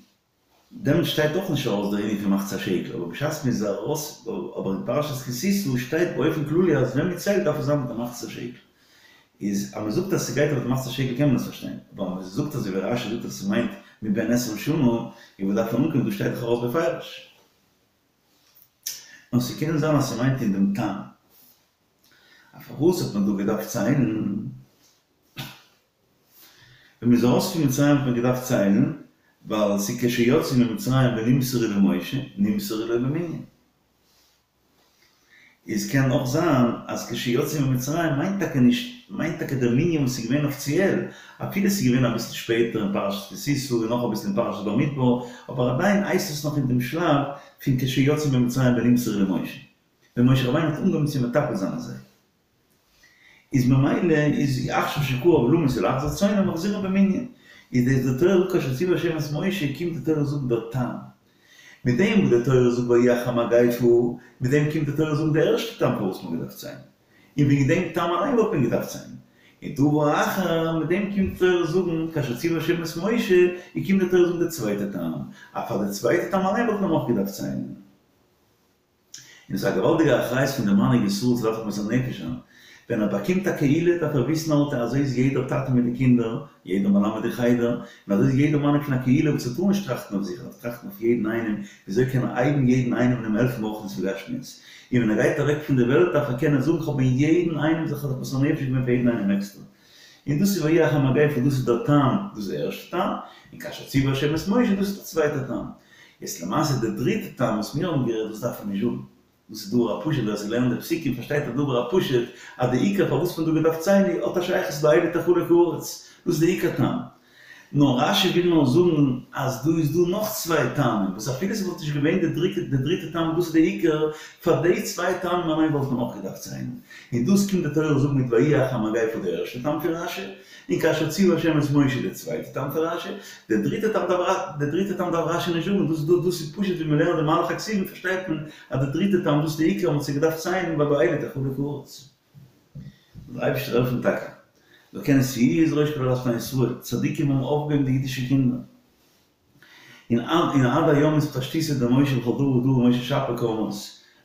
דעמאלטס שטייט אויך נישט ארויס דער ענין פון מחצית השקל, אבער בשעת מען איז ארויס, אבער אין פרשת כי תשא שטייט באופן כללי אז ווען מען ציילט דארף עס זיין מיט א מחצית השקל. איז אז מען זאגט אז ס'גייט אויף די מחצית השקל קען מען עס פארשטיין, אבער אז מען זאגט אזוי ווי רש"י זאגט אז ס'מיינט מבן עשרים שנה, און וואו דארף מען אנקומען, דא שטייט דאך ארויס בפירוש. נאר ס'קען זיין אז ס'מיינט אין דעם טעם. א פארוואס האט מען דא געדארפט ציילן? ווען מ'איז ארויס פון מצרים האט מען געדארפט ציילן, ווייל ס'איז כשיצאו ממצרים ונמסרו למשה, נמסרו לו במנין. איז קען אויך זיין אז כשיצאו ממצרים מיינט טאקע נישט, מיינט טאקע דער מנין וואס איז געווען אפיציעל, אפילו ס'איז געווען אביסל שפעטער אין פרשת כי תשא און נאך אביסל אין פרשת במדבר, אבער עדיין הייסט עס נאך אין דעם שלב פון כשיצאו ממצרים ונמסרו למשה, ווען משה רבינו האט אנגעהויבן צו מטפל זיין אין זיי. איז ממילא איז עכשיו שקרב למות ולהחזיר צאנם מחזירן במנין, איז דאס די תורה זאגט כאשר ציוה השם את משה קומט די תורה זאגן דער טעם, מיט דעם וואס די תורה זאגט ויהי אחרי המגפה, מיט דעם קומט די תורה זאגן די ערשטע טעם פארוואס מ'האט געדארפט ציילן, און וועגן דעם טעם אליין וואלט מען געדארפט ציילן, און דבר אחר, מיט דעם קומט די תורה זאגן כאשר ציוה השם את משה, און קומט די תורה זאגן די צווייטע טעם, אז פאר די צווייטע טעם אליין וואלט מען אויך געדארפט ציילן. און עס איז א געוואלדיגע אחריות פון די מנהיג ישראל צו דארפן מוסר נפש זיין. ווען ער באקומט א קהילה דארף ער וויסן אלטע אזוי איז יעדער טאטע מיט די קינדער, יעדער מלמד אין חדר, און אזוי איז יעדער מנהיג פון א קהילה וואס ער טאר נישט טראכטן אויף זיך, ער דארף טראכטן אויף יעדן איינעם, וויאזוי קען ער הייבן יעדן איינעם און אים העלפן ברוחניות ובגשמיות. און ווען ער גייט אוועק פון די וועלט דארף ער קענען זאגן כ'האב אין יעדן איינעם זיך מוסר נפש געווען פאר יעדן איינעם עקסטער. און דאס איז ויהי אחרי המגפה דאס איז דער טעם, דאס איז דער ערשטער טעם, און כאשר ציוה השם את משה דאס איז דער צווייטער טעם. יעצט למעשה דער דריטע טעם וואס מיר האבן גערעדט דאס דארף מען נישט זאגן, דאס איז דבר הפשוט ווער ס'לערנט די פסוקים פארשטייט א דבר הפשוט אז די עיקר פארוואס מ'האט דא געדארפט ציילן האט א שייכות לאלה תחלק הארץ, דאס איז די עיקר טעם. נאר רש"י וויל נאר זאגן אז דא איז דא נאך צוויי טעמים וואס אפילו ס'וואלט נישט געווען די דריטע די דריטע טעם דאס איז די עיקר, פאר די צוויי טעמים אליין וואלט מען אויך געדארפט ציילן. און דאס קומט די תורה זאגן מיט ויהי אחרי המגפה די ערשטע טעם פון רש"י, און כאשר ציוה השם את משה די צווייטע טעם פון רש"י, די דריטע טעם דארף די דריטע טעם דארף רש"י נישט זאגן, דאס דאס איז פשוט ווי מ'לערנט די מהלך הכתובים פארשטייט מען אז די דריטע טעם דאס איז די עיקר אז מ'האט זיך געדארפט ציילן ווייל באלה תחלק הארץ. זאל דער אייבערשטער העלפן טאקע מ'זאל קענען שאו את ראש כל עדת בני ישראל, צדיקים האבן אויפגעהויבן די אידישע קינדער, און און עד היום איז אתפשטותא דמשה בכל דור ודור ומשה שפיר קרמאת,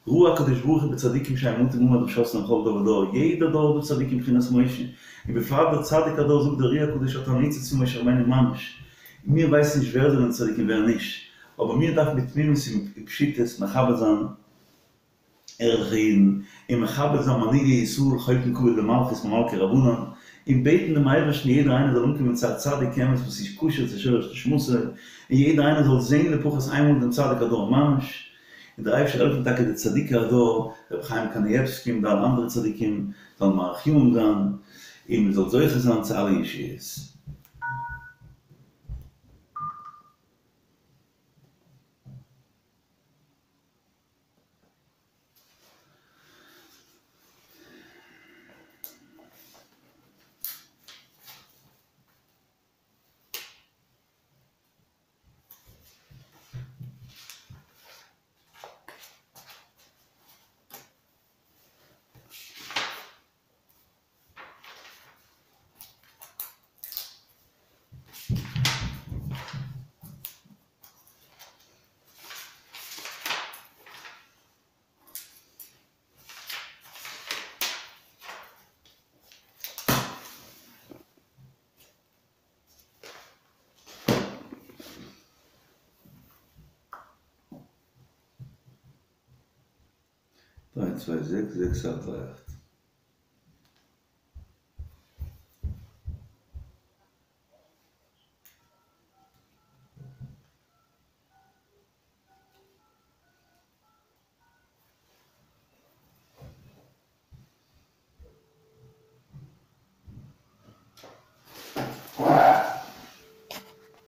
ראה הקדוש ברוך הוא בצדיקים שהם מטים עמוד ושתלם בכל דור ודור, יעדער דור האט דא צדיקים בחינת משה, און בפרט דער צדיק הדור זאגט דער אר"י הקדוש האט א ניצוץ פון משה רבינו ממש, מיר ווייסן נישט ווער זענען צדיקים ווער נישט, אבער מיר דארפן בתמימות און פשיטות מכבד זיין ערליכע אידן, און מכבד זיין מנהיגי ישראל חולקין כבוד למלכות ממלכי רבנן, און בעטן דעם אייבערשטן יעדער איינער זאל אנקומען צו א צדיק אמת וואס איז כשר צו שורש נשמתו, און יעדער איינער זאל זען לפחות איינמאל דעם צדיק הדור ממש, און דער אייבערשטער זאל העלפן טאקע די צדיקי הדור, רבי חיים קנייבסקי און די אלע אנדערע צדיקים זאלן מאריך ימים זיין, און מען זאל זוכה זיין צו אלע ישועות. דריי צוויי זעקס זעקס אכט דריי אכט.